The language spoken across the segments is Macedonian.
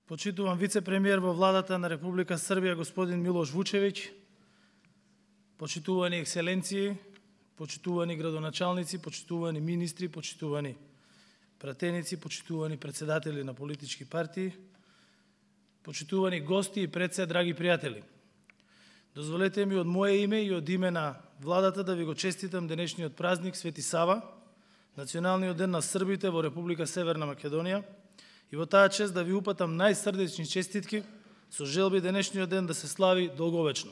Почитуван вице-премиер во владата на Република Србија господин Милош Вучевиќ, почитувани екселенции, почитувани градоначалници, почитувани министри, почитувани пратеници, почитувани председатели на политички партии, почитувани гости и пред се, драги пријатели. Дозволете ми од мое име и од име на владата да ви го честитам денешниот празник Свети Сава, Националниот ден на србите во Република Северна Македонија, и во таа чест да ви упатам најсрдечни честитки со желби денешниот ден да се слави долговечно.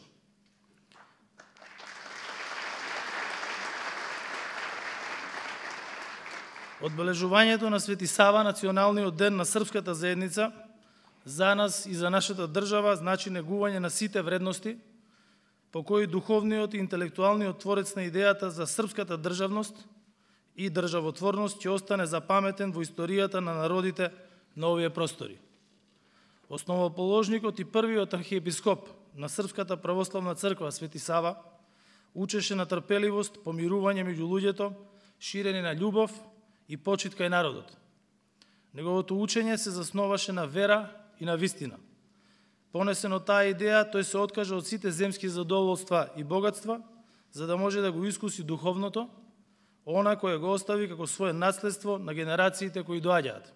Одбележувањето на Свети Сава, Националниот ден на српската заедница, за нас и за нашата држава значи негување на сите вредности по кои духовниот и интелектуалниот творец на идејата за српската државност и државотворност ќе остане запаметен во историјата на народите на овие простори. Основоположникот и првиот архиепископ на Српската православна црква Свети Сава учеше на трпеливост, помирување меѓу луѓето, ширење на љубов и почит кај народот. Неговото учење се засноваше на вера и на вистина. Понесено таа идеја, тој се откажа од сите земски задоволства и богатства, за да може да го искуси духовното, она кое го остави како свое наследство на генерациите кои доаѓаат.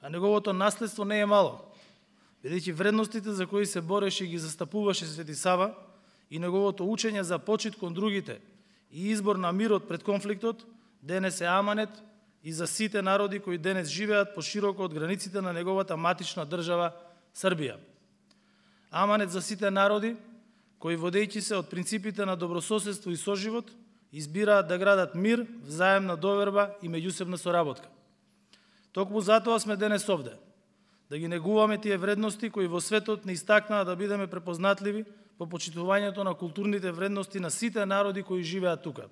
А неговото наследство не е мало, бидејќи вредностите за кои се бореше и ги застапуваше Свети Сава и неговото учење за почит кон другите и избор на мирот пред конфликтот, денес е аманет и за сите народи кои денес живеат пошироко од границите на неговата матична држава Србија. Аманет за сите народи кои, водејќи се од принципите на добрососедство и соживот, избираат да градат мир, взаемна доверба и меѓусебна соработка. Токму затоа сме денес овде, да ги негуваме тие вредности кои во светот не истакнаа да бидеме препознатливи по почитувањето на културните вредности на сите народи кои живеат тука.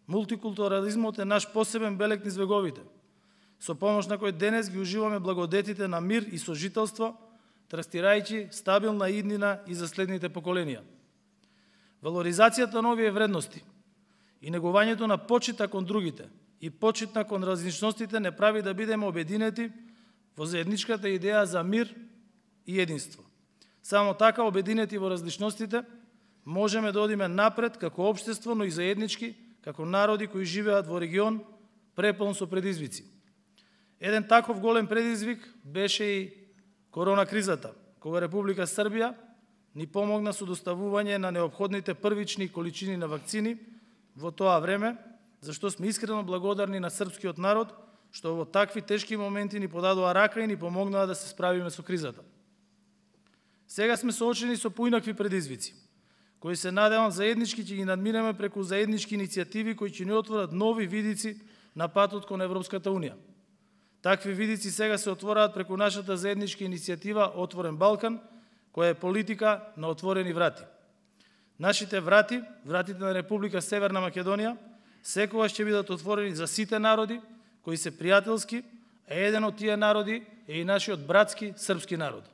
Мултикултурализмот е наш посебен белег низ вековите, со помош на кој денес ги уживаме благодетите на мир и сожителство, трастирајќи стабилна иднина и за следните поколенија. Валоризацијата на овие вредности и негувањето на почита кон другите и почитна кон различностите не прави да бидеме обединети во заедничката идеја за мир и единство. Само така, обединети во различностите, можеме да одиме напред како општество, но и заеднички, како народи кои живеат во регион преполн со предизвици. Еден таков голем предизвик беше и корона кризата, кога Република Србија ни помогна со доставување на неопходните првични количини на вакцини во тоа време, зашто сме искрено благодарни на српскиот народ, што во такви тешки моменти ни подадоа рака и ни помогнаа да се справиме со кризата. Сега сме соочени со поинакви предизвици, кои се надевам заеднички ќе ги надминеме преку заеднички иницијативи кои ќе ни отворат нови видици на патот кон Европската Унија. Такви видици сега се отвораат преку нашата заедничка иницијатива Отворен Балкан, која е политика на отворени врати. Нашите врати, вратите на Република Северна Македонија, секогаш ќе бидат отворени за сите народи кои се пријателски, а еден од тие народи е и нашиот братски српски народ.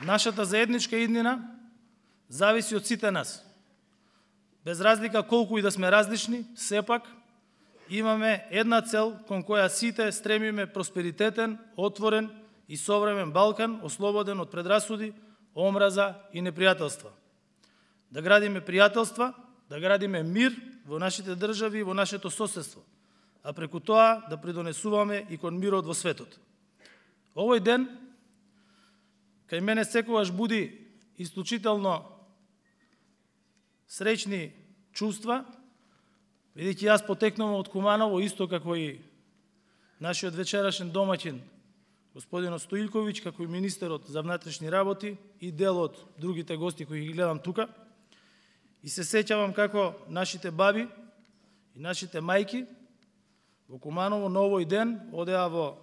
Нашата заедничка иднина зависи од сите нас. Без разлика колку и да сме различни, сепак имаме една цел кон која сите стремиме: просперитетен, отворен и современ Балкан, ослободен од предрасуди, омраза и непријателства. Да градиме пријателства, да градиме мир во нашите држави и во нашето соседство, а преку тоа да придонесуваме и кон мирот во светот. Овој ден кај мене секогаш буди исклучително среќни чувства, бидејќи јас потекнувам од Куманово, исто како и нашиот вечерашен домаќин господинот Стоилковиќ, како и министерот за внатрешни работи и дел од другите гости кои ги гледам тука. И се сеќавам како нашите баби и нашите мајки во Куманово на овој ден одеа во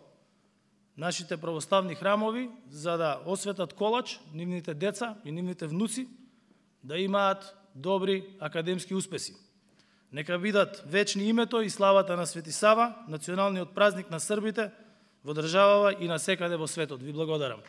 нашите православни храмови за да осветат колач нивните деца и нивните внуци да имаат добри академски успеси. Нека бидат вечни името и славата на Свети Сава, националниот празник на србите во државава и насекаде во светот. Ви благодарам.